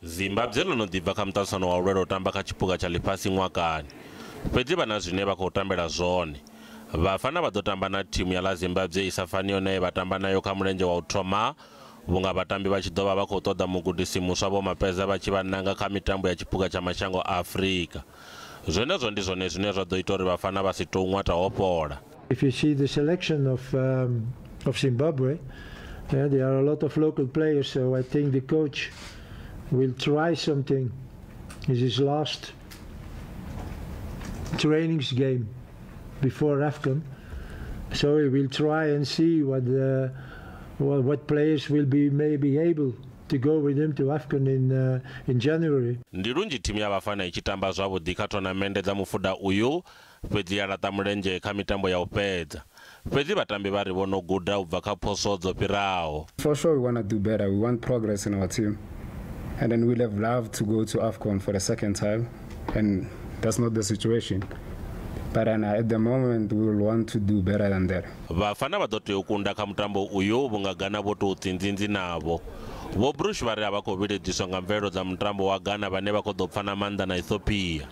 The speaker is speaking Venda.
Zimbabwe ḽo no ḓi bva kha muṱaṱisano wa u lwela u tamba kha tshiphuga tsha ḽifhasi ṅwakani, fhedzi vha na zwine vha khou tambela zwone. Vhafana vha ḓo tamba na thimu ya ḽa Zimbabwe i sa faniho na ye vha tamba nayo kha mulenzhe wa u thoma, vhunga vhatambi vha tshi ḓo vha vha khou ṱoḓa mugudisi muswa Vho Mapeza vha tshi vha nanga kha mitambo ya tshiphuga tsha mashango a Afrika. Zwenezwo ndi zwone zwine zwa ḓo ita uri vhafana vha si tou ṅwata ho fhola. If you see the selection of Zimbabwe, there are a lot of local players, so I think the coach will try something. It's his last trainings game before AFCON, so he will try and see what players will be maybe able to go with him to AFCON in January. Ndi lunzhi thimu ya Vhafana i tshi tamba zwavhuḓi kha thonamende dza mufuda uyu, fhedzi ya laṱa mulenzhe kha mitambo ya u fhedza. Fhedzi vhatambi vha ri vho no guda u bva kha phoswo dzo fhiraho. For sure we want to do better. We want progress in our team. And then we'll have loved to go to AFCON for the second time, and that's not the situation. But then at the moment we will want to do better than that. Vhafana vha ḓo tea u kunda kha mutambo uyu vhunga Ghana vho tou tsinzinzi navho. Vho Bruce vha ri a vha khou vhiledziswa nga mvelelo dza mutambo wa Ghana vhane vha khou ḓo pfa na maanḓa na Ethiopia.